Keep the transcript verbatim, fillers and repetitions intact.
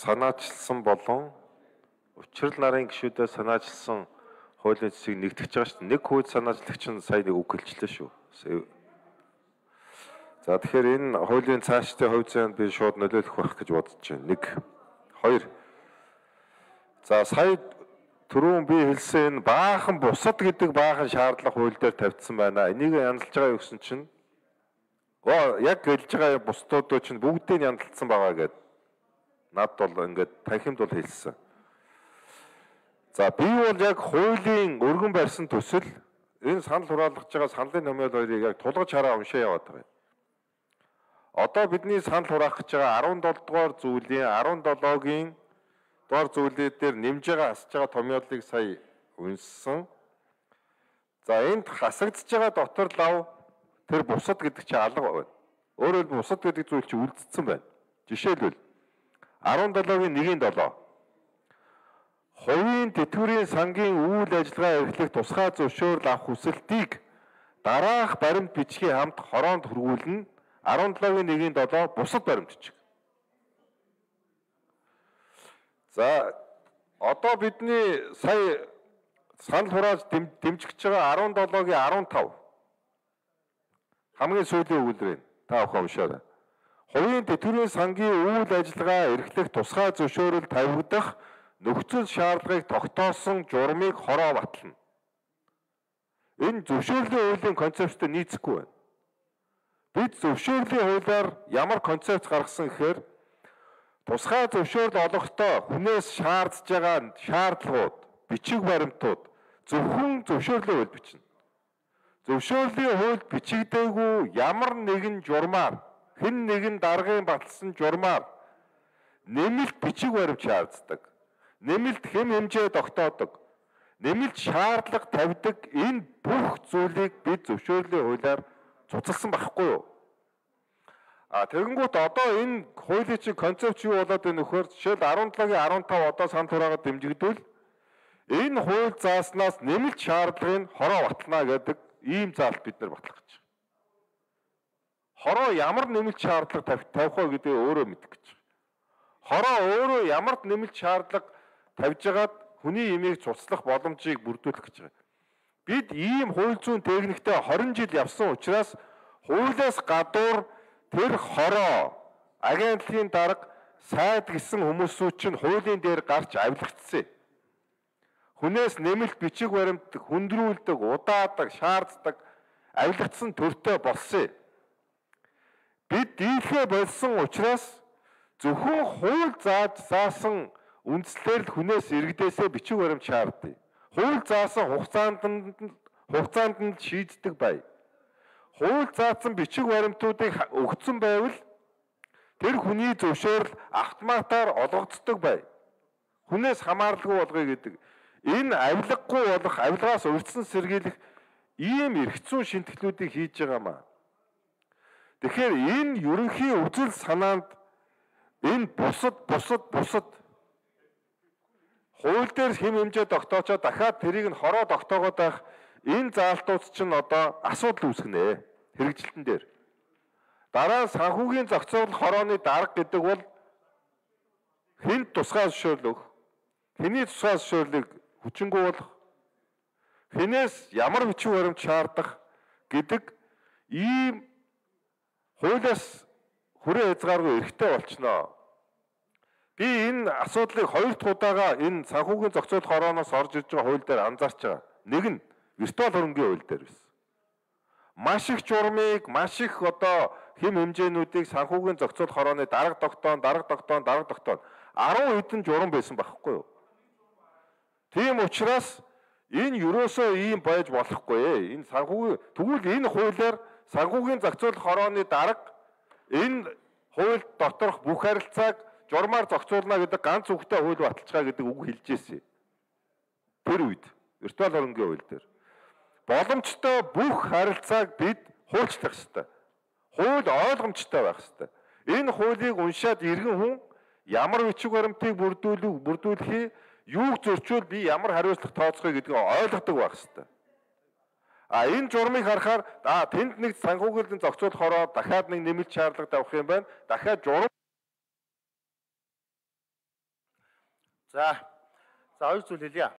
санаачилсан болон учрал нарын гишүүдээ санаачилсан хуулийн цэцгийг нэгтгэж байгаа шүү дээ. Нэг хууль санаачлагч нь сая нэг үг хэлчихлээ шүү. За тэгэхээр энэ хуулийн цаашдын хувь заяанд би шууд нөлөөлөх байх гэж бодож байна. Нэг, хоёр. За сая түрүүн би хэлсэн энэ баахан бусад гэдэг баахан шаардлага хууль дээр тавьдсан байна. Энийг янзалж байгаа гэсэн чинь оо яг хэлж байгаа бусдуудоо чинь бүгдийг янзалсан байгаа гэдэг. Над бол ингээд танхимд бол хэлсэн. За би бол яг хуулийн өргөн барьсан төсөл энэ санал хураалгаж байгаа саналын номёол хоёрыг яг тулгаж хараа уншаа яваад байгаа. Одоо бидний санал хураах гэж байгаа арван долоо дугаар зүйлийн арван долоогийн дугаар зүйлүүд дээр нэмж байгаа асж байгаа томьёолыг сая унссан. За энд хасагдж байгаа дотор лав тэр бусад гэдэг чинь алга байна. Өөрөөр хэлбэл бусад гэдэг зүйл чинь үлдсэн байна. Жишээлбэл арван долоогийн нэгin долоо хувийн тэтгэврийн сангийн үйл ажиллагаа эрхлэх тусгай зөвшөөрөл авах хүсэлтийг дараах баримт бичгийн хамт хороонд хүргүүлнэ. арван долоогийн нэгin долоо бусад баримт бичиг. За одоо бидний сая санал хурааж дэмжиж байгаа арван долоогийн арван тав хамгийн сүүлийн өгүүлбэр байна. Та бүхэн уншаарай. Хувийн тэтгэврийн сангийн үйл ажиллагаа эрхлэх тусгай зөвшөөрөл тавигдах нөхцөл шаардлагыг тогтоосон журмыг хороо батлна. Энэ зөвшөөрлийн хуулийн концепттэй нийцэхгүй байна. Бид зөвшөөрлийн хуулиар ямар концепт гаргасан гэхээр тусгай зөвшөөрөл олохдоо хүнээс шаардж байгаа шаардлагууд, бичиг баримтууд зөвхөн зөвшөөрлийн хууль бичнэ. Зөвшөөрлийн хуульд бичигдээгүй ямар нэгэн журмаар, хэн нэгэн даргын баталсан журмаар нэмэлт бичиг баримт шаарддаг. Нэмэлт хэм хэмжээ тогтоодог. Нэмэлт шаардлага тавьдаг энэ бүх зүйлийг бид зөвшөөрлийн хуулиар цуцалсан байхгүй юу? А тэгэнгүүт одоо энэ хуулийн чинь концепт юу болоод байна вөхөр жишээл арван долоогийн арван тав одоо санал хураагаад дэмжигдвэл энэ хууль зааснаас нэмэлт шаардлагыг хороо батлана гэдэг ийм заалт бид нар батлах гэж байна. Хороо ямар нэмэлт шаардлага тавих вэ гэдгийг өөрөө мэдэх гэж байна. Хороо өөрөө ямар нэмэлт шаардлага тавьж байгаад хүний имийг цуцлах боломжийг бүрдүүлэх гэж байна. Бид ийм хууль зүйн техниктэй хорин жил явсан учраас хуулиас гадуур тэр хороо агентлагийн дарга сайд гэсэн хүмүүсүүд чинь хуулийн дээр гарч авилгацсан. Хүнээс нэмэлт бичиг баримт хөндрүүлдэг, удаадаг, шаарддаг, авилгацсан төртөө болсон. Бид дийлхэ болсон учраас зөвхөн хууль зааж заасан үндслээр л хүнээс иргэдээсээ бичиг баримт шаарддаг. Хууль заасан хугацаанд нь хугацаанд нь шийддэг бай. Хууль заасан бичиг баримтуудыг өгсөн байвал тэр хүний зөвшөөрөл автоматар олгогддог бай. Хүнээс хамааралгүй болгоё гэдэг. Энэ авилгагүй болох, авилгаас урьдчилан сэргийлэх ийм эрх зүйн шинтгэлүүдийг хийж байгаамаа. Тэгэхээр энэ ерөнхий үзэл санаанд энэ бусад бусад бусад хууль дээр хэм хэмжээ тогтоочоо дахиад тэрийг нь хороо тогтоогоод байх энэ заалтууд чинь одоо асуудал үүсгэнэ хэрэгжилтэн дээр. Дараа нь санхүүгийн зохицуулалт хорооны дарга гэдэг бол хэнд тусгай зөвшөөрөл өгөх, хэний тусгай зөвшөөрлийг хүчингү болох, хэнээс ямар бичиг баримт шаардах гэдэг ийм хуулиас хүрээ хязгааргүй эрхтэй болчихноо. Би энэ асуудлыг хоёр дахь удаага энэ санхүүгийн зохицуулалт хорооноос орж ирж байгаа хууль дээр анзаарч байгаа. Нэг нь виртуал хөрөнгийн хууль дээр байсан. Маш их журмыг, маш их одоо хэм хэмжээнүүдийг санхүүгийн зохицуулалт хорооны дарга тогтоон, дарга тогтоон, дарга тогтоон арван хэдэн журам байсан байхгүй юу? Тийм учраас энэ юусоо ийм байж болохгүй. Энэ санхүүгийн тэгвэл энэ хуулиар санхүүгийн зохицуулалт хорооны дарга энэ хууль доторх бүх харилцааг журмаар зохицуулна гэдэг ганц үгтэй хууль баталцгаа гэдэг үг хэлж ирсэн. Тэр үед виртуал хөрөнгийн хууль дээр боломжтой бүх харилцааг бид хуульчлах ёстой. Хууль ойлгомжтой байх ёстой. Энэ хуулийг уншаад иргэн хүн ямар бичиг баримтыг бүрдүүлэх бүрдүүлэхий юуг зөрчүүл би ямар хариуцлага тооцохыг гэдгийг ойлгодог байх ёстой. А энэ журмыг харахаар а тэнд нэг санхүүгийн зохицуулалт хороо дахиад нэг нэмэлт шаардлага тавих юм байна. Дахиад журам За. За хоёр зүйл хэлье.